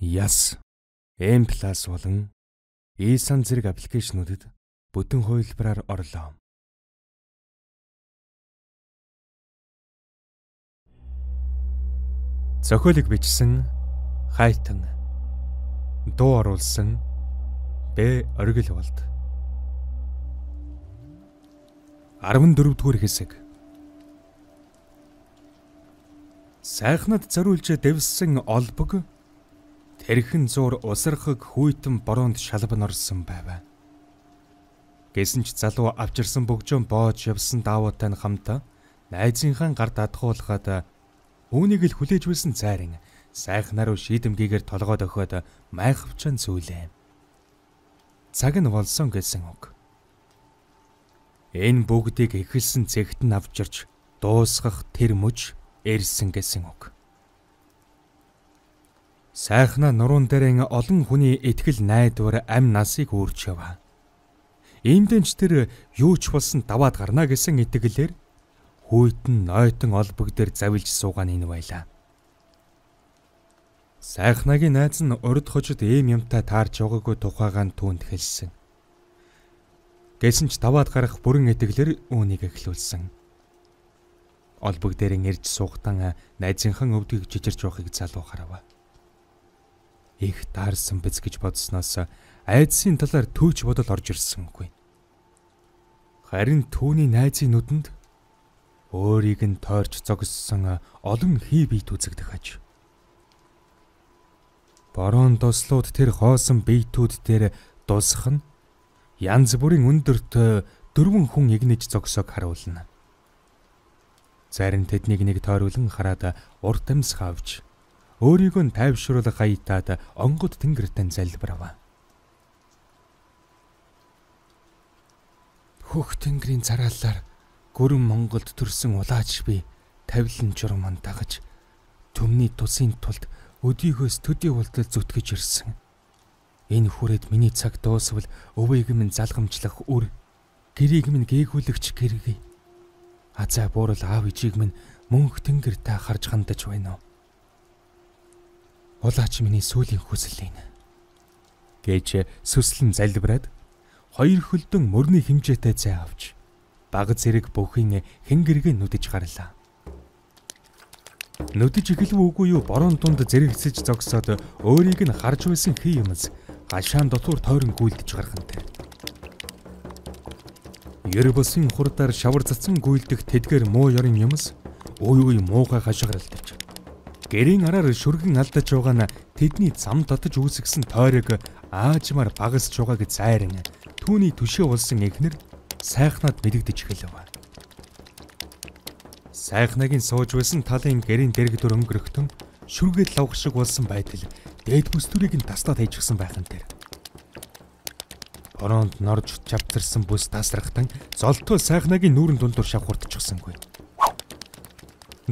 Яс, M+ болон E-сан зэрэг аппликейшнүүдэд бүтэн хувилбараар орлоо. Зохиолыг бичсэн Хайтан, дуу оруулсан Б. Оргил болд. 14-р хэсэг. Сайхнад зориулж дэвссэн олбог тэрхэн зуур усархаг хүйтэн бороонд шалбан орсон байв. Гэсэн ч залуу авчирсан бөгжөөн боож явсан даавуутай хамтаа найзынхаа гар дадгуулгаад үүнийг л хүлээж байсан зайрын сайхнаар шийдэмгийгээр толгойд өгөхөд майхавчан зүйлээ. Цаг нь болсон гэсэн үг. Энэ бүгдийг эхэлсэн цэгт нь авчирч дуусгах тэр мөч ирсэн гэсэн үг. Сайхна нуруунд дээрэн олон хүний итгэл найдвар амь насыг үүрч яв. Иймдэнч тэр юу ч болсон даваад гарна гэсэн итгэлээр хүйтэн нойтон олбог дээр завилж суугаан энэ байлаа. Сайхнагийн найз нь урд хожид ийм юмтай таарч яваагүй тухайгаа түүнд хэлсэн. Гэсэн ч даваад гарах бүрэн итгэлээр үүнийг эхлүүлсэн. Олбог дээрэн ирж суугтан найзынхан өвдгийг жижирч явахыг залуу харав. Их таарсан биз гэж бодсноос айдсын талаар төвч бодол орж ирсэнгүй. Харин түүний найзын нүдэнд өөрийг нь тойрч зогссон олон хий биет үзэгдэх аж. Борон дослууд тэр хоосон биетүүд дээр дусах нь янз бүрийн өндөрт 4 хүн игнэж зогсоог харуулна. Зарим тэднийг нэг тойруулан хараад урт амьсгал авч өөрийгөө нь тайвшруулах хаятаад онгод тэнгэртэн залбирав. Хөх тэнгэрийн зараалаар гүрэн Монголд төрсэн улаач би тавилан журман дагаж төмний тусын тулд өдийгөөс төдий болтол зүтгэж ирсэн. Энэ хүрээд миний цаг дуусвал өвөөг минь залгамжлах үр, гэрийг минь гээгүүлэгч гэргий. Азаа буурал аав ижийг минь мөнх тэнгэртэй харж хандаж байна уу? Улаач миний сүүлийн хүсэл энэ гэж сүслэн залбираад 2 хөлдөн мөрний хэмжээтэй цай авч баг зэрэг бүхийн хэнгэргээ нүдэж гарлаа. Нүдэж эхлэв үгүй юу борон дунд зэрэгсэж зогсоод өөрийг нь харж байсан хий юмс гашаан дотор тойрон гүйлдэж гарахантай. Ер бусын хурдаар шавар цацсан гүйлдэх тэдгээр муу ёрын юмс үй муухай хашгиралдаж. Гэрийн араар шүргэн алдаж байгаа нь тэдний зам татаж үүсгэсэн тойрог аажмаар багасж байгааг зайран түүний төшөө болсон эхнэр сайхнаад мэдэгдэж эхэлв. Сайхнагийн сууж байсан талын гэрийн дэрэгдүр өнгөрөхтөн шүргээд лавх шиг болсон байтал дээд бүстүрийг нь таслаад хайчихсан байхан тэр. Бороонд норж чавцарсан бүс тасрахтан золтой сайхнагийн нүүрэн дундуур шавхурдчихсангүй.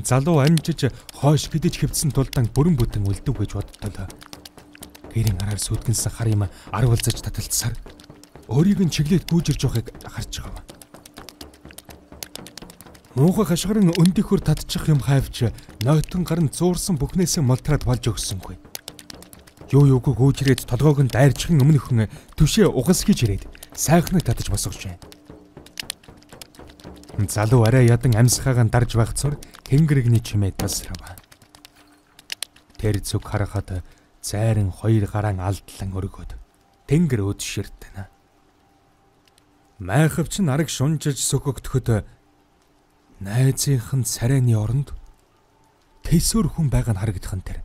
Залуу амжиж хойш гэдэж хөвцсөн тулдаан бүрэн бүтэн үлдэв гэж бодтол. Гэрийн араар сүтгэнсэн хар юм арвалзаж таталцсаар өөрийг нь чиглээд гүйжирж байгааг харж байгаа. Муухай хашгиран өндөхөр татчих юм хайвч нойтон гарн зуурсан бүхнээсээ молтраад болж өгсөнгүй. Юугүй гүйжрээд толгойг нь дайрчихын өмнөхөн түшээ угас гэж ирээд сайхныг татаж босгож байна. Залуу арай ядан амьсгаагаа дарж байхцор хэнгэрэгний чимээ тасрав. Тэр зүг харахад зайран 2 гараан алдлан өргөд тэнгэр өдширтэнэ. Майхавч нь араг шунжиж сөхөгдөхөд найзынх нь царайны оронд тэсвэр хүн байгаа нь харагдах нь тэр.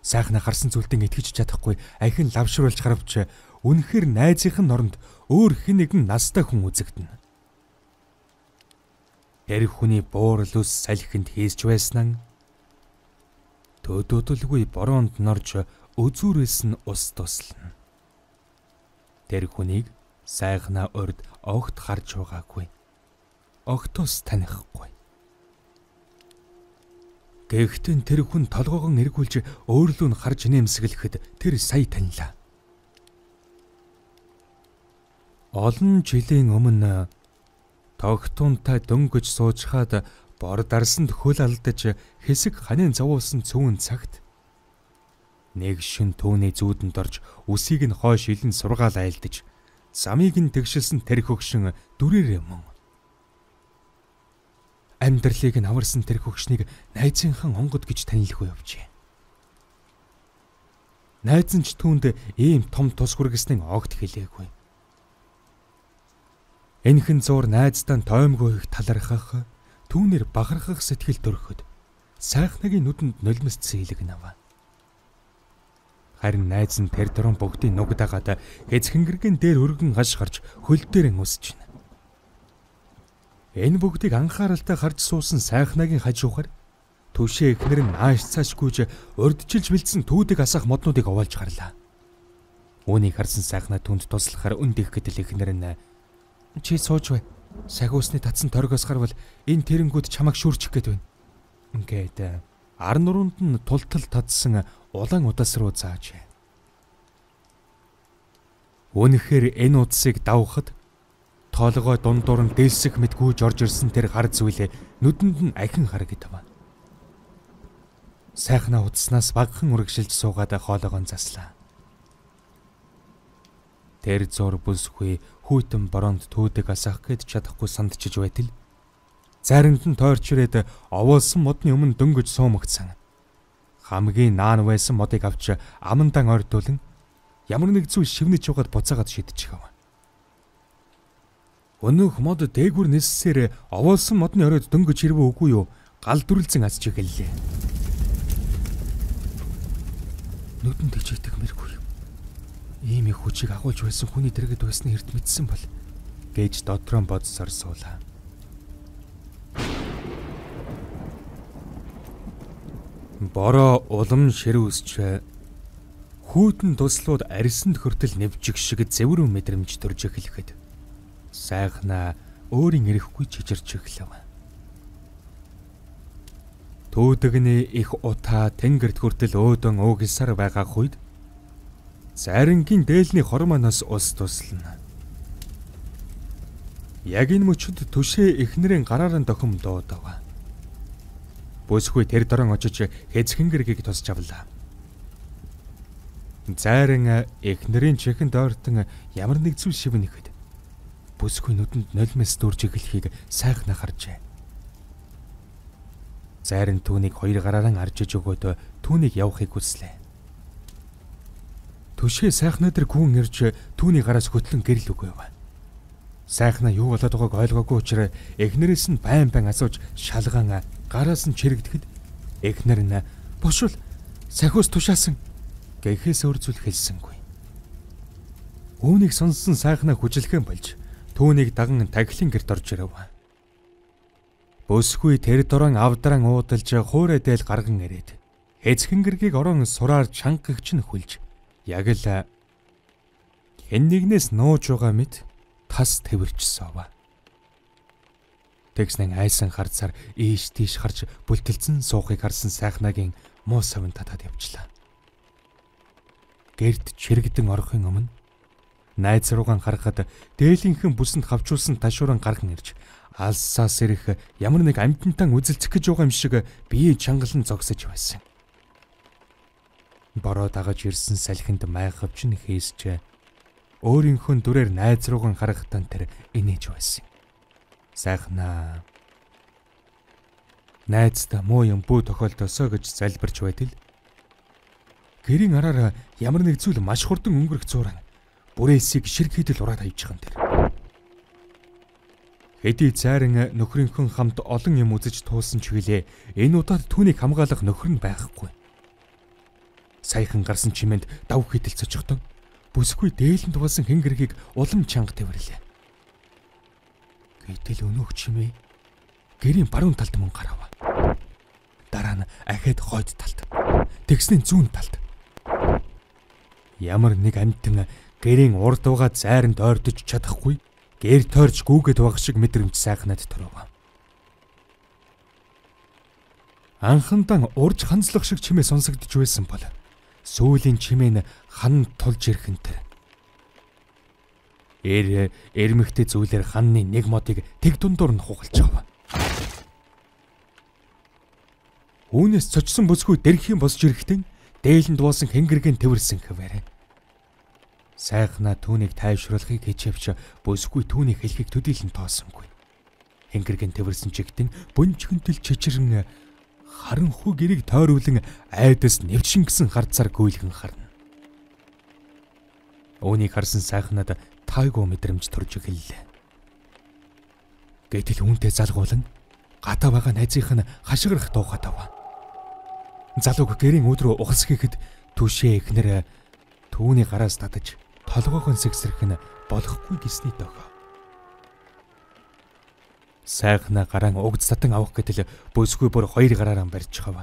Сайхна харсан зүйлдэн итгэж чадахгүй ахин лавшруулж харавч үнэхээр найзынх нь оронд өөр хэн нэгэн настай хүн үзэгдэнэ. Тэр хүний буурал ус салхинд хийсч байснаа төдөөдөлгүй бороонд норж өзүүрээс нь ус туслана. Тэр хүнийг сайхна урд огт харж байгаагүй. Огтос танихгүй. Гэхдээ тэр хүн толгоогон эргүүлж өөрлөө нь харж нэмсгэлэхэд тэр сая танилаа. Олон жилийн өмнө тогтунтай дөнгөж суужхаад бор дарсанд хөл алдаж хэсэг ханийн зовоосон цөөн цагт Нэг шин түүний зүүдэнд орж үсийг нь хойш илэн сургаал айлдаж, замыг нь тэгшилсэн тэр хөгшин дүрээрээ мөн. Амьдралыг нь аварсан тэр хөгшнийг найзынхан онгод гэж танилгүй явжээ. Найз нь ч түүнд ийм том тус хүргэсний огт хэлээгүй. Энэхэн зур найздаа тоймгүй их талархах, түүнэр бахархах сэтгэл төрөхөд сайхнагийн нүдэнд нулимсцсан илэг наваа. Харин найз нь тэр дөрөн бүгдийн нугдагаад хэцхэнгэргийн дээр өргөн хаш гарч хөл дээр өсөж байна. Энэ бүгдийг анхааралтай харж суусан сайхнагийн хажуухаар түшээ эхнэр нь нааш цааш гүйж урдчилж бэлдсэн түүдэг асах моднуудыг овоолж гарлаа. Үүнийг харсан сайхна түнд туслахаар өндөх гэдэл эхнэр нь "Чи сууж бай. Сагуусны татсан торгоос гарвал энэ тэрэнгүүд чамайг шүрчих гээд байна." Ингээд ар нуруунд нь тултал татсан улаан удас руу зааж. Үнэхээр энэ удсыг давхад тоолгой дундуур нь дэлсэх мэт гүйж орж ирсэн тэр гар зүйлээ нүдэнд нь ахин харагдав. Сайхна удснаас багахан үргэлжилж суугаад хоолойгоо заслаа. Тэр зур бүсгүй хүйтэн бороонд түүдэг асах гээд чадахгүй сандчиж байтал заринд нь тойрч ирээд овоолсон модны өмнө дөнгөж суумагцсан. Хамгийн наан байсан модыг авч амандан ойртуулан ямар нэг зүйл шивнэж угаад буцаагаад шидчихв. Өнөөх мод дээгүр нэлсээр овоолсон модны оройд дөнгөж ирвэ үгүй юу? Гал дүрлзэн асч эхэллээ. Нүдэнд ичээдэг мэргүй юм. Ийм их хүчийг агуулж байсан хүний дэргэд байсны эрт мэдсэн бол гэж дотроо бодсоор суулаа. Бороо улам шир үсч хүйтэн туслууд арьсанд хөртөл нэвжих шиг зэврэн мэдрэмж төрж эхлэхэд сайхна өөрийн эрэхгүй чичирч эхлэв. Түүдэгний их утаа тэнгэрт хөртөл өөдөн уугилсаар байгаа үед зарингийн дээлний хормоноос ус туслана. Яг энэ мөчөд түшээ эхнэрийн гараараа дохим дуудав. Бүсгүй тэр дорон очиж хэцхэнгэргийг тусч авлаа. Зайран эхнэрийн чихэнд ойртон ямар нэг зүйл шивнэхэд бүсгүй нүдэнд нулимс дүүрж эхлэхийг сайхна харжээ. Зайран түүнийг хоёр гараараа аржиж өгөөд түүнийг явахыг хүслээ. Түшээ сайхна дээр гүн ирж түүний гараас хөтлөн гэрэл өгөөв. Сайхна юу болоод байгааг ойлгоогүй учраас эхнэрээс нь байн асууж шалгаан гараас нь чирэгдэхэд эхнэр нь "Бошвол сахиус тушаасан" гэхээс өөр зүйл хэлсэнгүй. Үүнийг сонссон сайхна хүжилхэн болж түүнийг даган тагилын гэрт орж ирэв. Бүсгүй тэр дорон авдран уудалж хуурай дээл гарган ирээд хэцхэнгэргийг орон сураар чангагч нь хүлж яг л хэн нэгнээс нууж байгаа мэт тас тэрчсэв. Тэгснэн айсан харцаар ийш тийш харж бүлтэлцэн суухыг харсан сайхнагийн муу савн татаад явчлаа. Гэрд чирэгдэн орохын өмнө найз руугаан харахад дээлийнхэн бүсэнд хавчуулсан ташууран гарган ирж алсаас ирэх ямар нэг амьтантан үзэлцэх гэж байгаа юм шиг бие чангалан зогсож байсан. Бороо дагаж ирсэн салхинд майхавч нь хийсч өөрийнхөө дүрээр найз руугаан харахтан тэр инээж байсан. Сайхна найздаа муу юм бүү тохиолдосоо гэж залбирч байтал гэрийн араар ямар нэг зүйл маш хурдан өнгөрөх зураг бүрээсийг ширг хийдэл ураад хайчихсан тэр. Хэдий зайран нөхрийнхөө хамт олон юм үзэж туулсан ч гэлээ энэ удаад түүнийг хамгаалах нөхөр нь байхгүй. Саяхан гарсан чимээнд давх хийдэл цочихдон бүсгүй дээлэнд болсон хэнгэргийг улам чанга тавирлаа. Гэтэл өнөөх чимээ гэрийн баруун талд мөн гарав. Дараа нь ахад хойд талд. Тэгснэн зүүн талд. Ямар нэг амтэн гэрийн урд угаа зайранд ойртож чадахгүй гэр тойрч гүүгээд байх шиг мэдрэмж сайхнаад төрөв. Анхандан урж ханцлах шиг чимээ сонсогдож байсан бол сүүлийн чимээ нь хан тулж ирхэн тэр. Эрмэгтэй зүйлээр ханны нэг модыг тэг дундуур нь хугалж авав. Үүнээс цочсон бүсгүй дэрхийн босж ирэхдээ дээлэнд дуусан хэнгэргэн тэрсэн хэвээрээ. Сайхна түүнийг тайвшруулахыг хичээвч бүсгүй түүний хэлхийг төдийлөн тоосонгүй. Хэнгэргэн тэрсэн чигтэн бөнчгөнтөл чичрэн харанхуй гэрийг тойруулан айдас нэвчин гисэн харцаар гүйлгэн харна. Үүнийг харсан сайхнад тайгуу мэдрэмж төрж эхэллээ. Гэтэл үүнтэй залгуулан гатаа байгаа найзынх нь хашгирах туухад ав. Залууг гэрийн өдрөө ухасхийхэд түшээ эхнэр түүний гараас татаж толгойгоо сэгсрэх нь болохгүй гэсний дохоо. Сайхна гараан угд сатан авах гэтэл бүсгүй бүр хоёр гараараа барьж хав.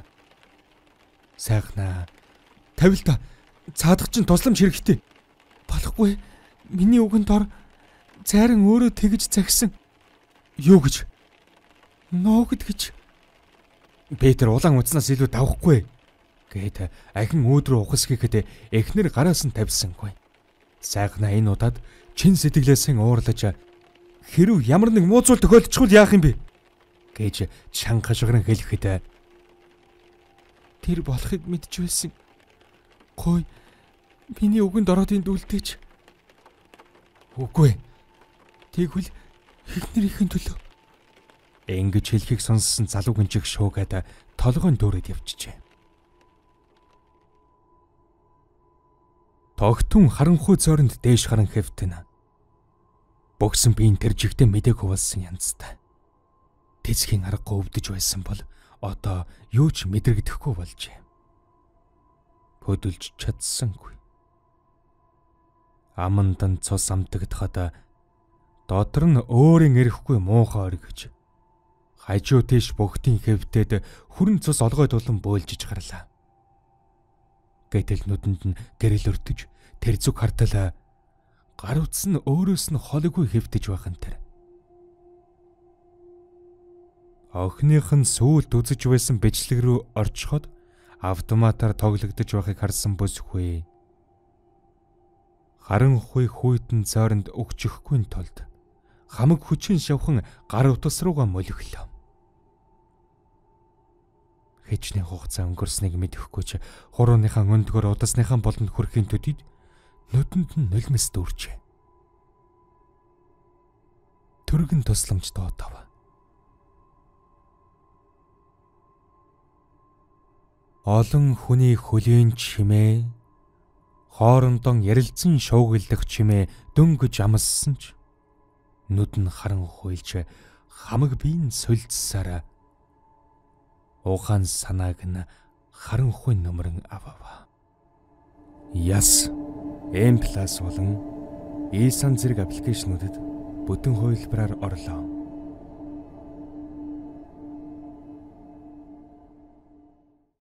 Сайхна тавил та цаадах чинь тусламж хэрэгтэй. Болохгүй. Миний үгэнд ор цайран өөрөө тэгж загсан. Юу гэж? Ноогд гэж. Петр улаан уцнаас илүү давхгүй гэхэд ахин өөдрөө ухасхийхэд эхнэр гараас нь тавьсангүй. Сайхна энэ удаад чин сэтгэлээсээ уурлаж хэрв ямар нэг муу зүйл тохиолдчихвол яах юм бэ гэж чангашгран хэлэхэд тэр болохыг мэдж байсан. Гой миний үгэнд ороод энд үлдээч. Үгүй. Тэгвэл эхнэрийнхэн төлөө. Ингэж хэлхийг сонссон залуугийн чих шуугаад толгойн дүүрээд явчихжээ. Тогтун харанхуй цооронд дээш харан хэвтэн. Богсон биеийн тэр жигтэй мэдээг хуваалсан янзтай. Тэцхийн аргагүй өвдөж байсан бол одоо юу ч мэдрэгдэхгүй болжээ. Хөдөлж чадсангүй. Амандан цус амтагдахад дотор нь өөрийн эрэхгүй муухай оргиж хажуу тийш богтын хэвтээд хүрэн цус олгой тулан бөөлжиж гарлаа. Гэтэл нүдэнд нь гэрэл өртөж тэр зүг хартал гар утас нь өөрөөс нь холгүй хэвтэж байхын тэр. Охиных нь сүүлд үзэж байсан бичлэг рүү орчход автоматар тоглогдож байхыг харсан бүсгүй. Харанхуй хүйтэн цаоронд өгчихгүй тулд хамаг хүчин шавхан гар утас руугаа молиглоо. Хэчнээн хугацаа өнгөрснийг мэдэхгүй ч хурууныхаа өндгөр удасныхаа болонд хүрэхийн төдийд нүдэнд нь нулимс дүүрчээ. Төргөн тусламж доотав. Олон хүний хөлийн чимээ хоорондоо ярилцсан шуугилдах чимээ дөнгөж амссан ч нүд нь харанхуйлж хамаг биеийн сольдсараа ухаан санааг нь харанхуй нөмрөн авав. Яс M+ болон E-сан зэрэг аппликейшнүүдэд бүтэн хувилбараар орлоо.